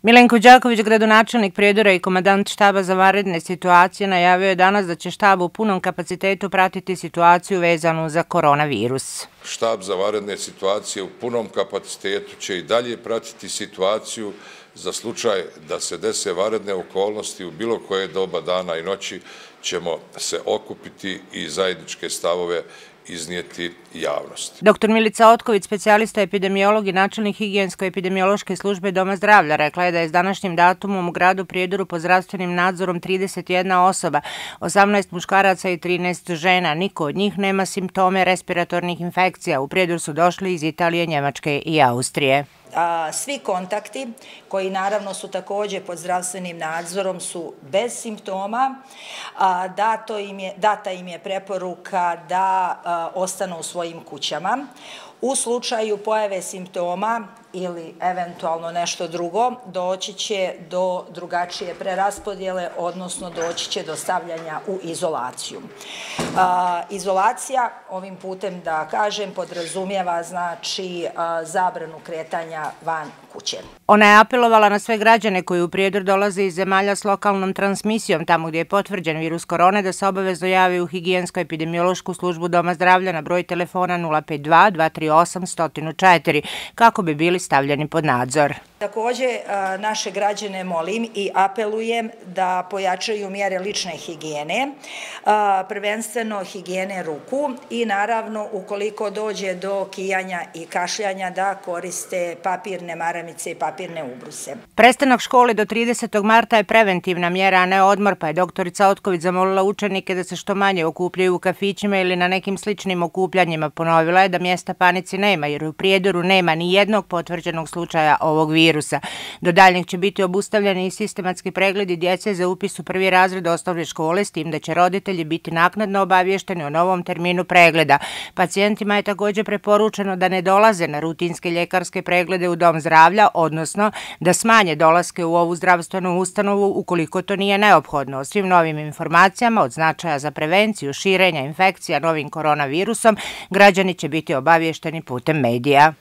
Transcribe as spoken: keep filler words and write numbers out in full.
Milenko Đaković, gradonačelnik Prijedora i komandant štaba za vanredne situacije, najavio je danas da će štab u punom kapacitetu pratiti situaciju vezanu za koronavirus. Štab za vanredne situacije u punom kapacitetu će i dalje pratiti situaciju za slučaj da se dese vanredne okolnosti u bilo koje doba dana i noći, ćemo se okupiti i zajedničke stavove iznijeti javnosti. Doktor Milica Otković, specijalista epidemiolog i načelnik higijensko-epidemiološke službe Doma zdravlja, rekla je da je s današnjim datumom u gradu Prijedoru pod zdravstvenim nadzorom trideset jedna osoba, osamnaest muškaraca i trinaest žena. Niko od njih nema simptome respiratornih infekcija. U Prijedor su došli iz Italije, Njemačke i Austrije. Svi kontakti, koji naravno su također pod zdravstvenim nadzorom, su bez simptoma. Data im je preporuka da ostanu u svojim kućama. U slučaju pojave simptoma ili eventualno nešto drugo, doći će do drugačije preraspodjele, odnosno doći će do stavljanja u izolaciju. Izolacija, ovim putem da kažem, podrazumijeva znači zabranu kretanja van kuće. Ona je apelovala na sve građane koji u Prijedor dolaze iz zemalja s lokalnom transmisijom, tamo gdje je potvrđen virus korone, da se obavezno javi u higijensko-epidemiološku službu Doma zdravlja na broj telefona nula pet dva dva tri osam jedan zero četiri kako bi bili stavljeni pod nadzor. Također naše građane molim i apelujem da pojačaju mjere lične higijene, prvenstveno higijene ruku i naravno ukoliko dođe do kijanja i kašljanja da koriste papirne maramice i papirne ubruse. Prestanak škole do tridesetog marta je preventivna mjera, a ne odmor, pa je doktorica Otković zamolila učenike da se što manje okupljaju u kafićima ili na nekim sličnim okupljanjima. Ponovila je da mjesta panici nema, jer u Prijedoru nema ni jednog potvrđenog slučaja ovog virusa. Do daljnjeg će biti obustavljeni i sistematski pregledi djece za upis u prvi razred osnovne škole, s tim da će roditelji biti naknadno obavješteni o novom terminu pregleda. Pacijentima je također preporučeno da ne dolaze na rutinske ljekarske preglede u Dom zdravlja, odnosno da smanje dolaske u ovu zdravstvenu ustanovu ukoliko to nije neophodno. O svim novim informacijama od značaja za prevenciju širenja infekcija novim koronavirusom građani će biti obavješteni putem medija.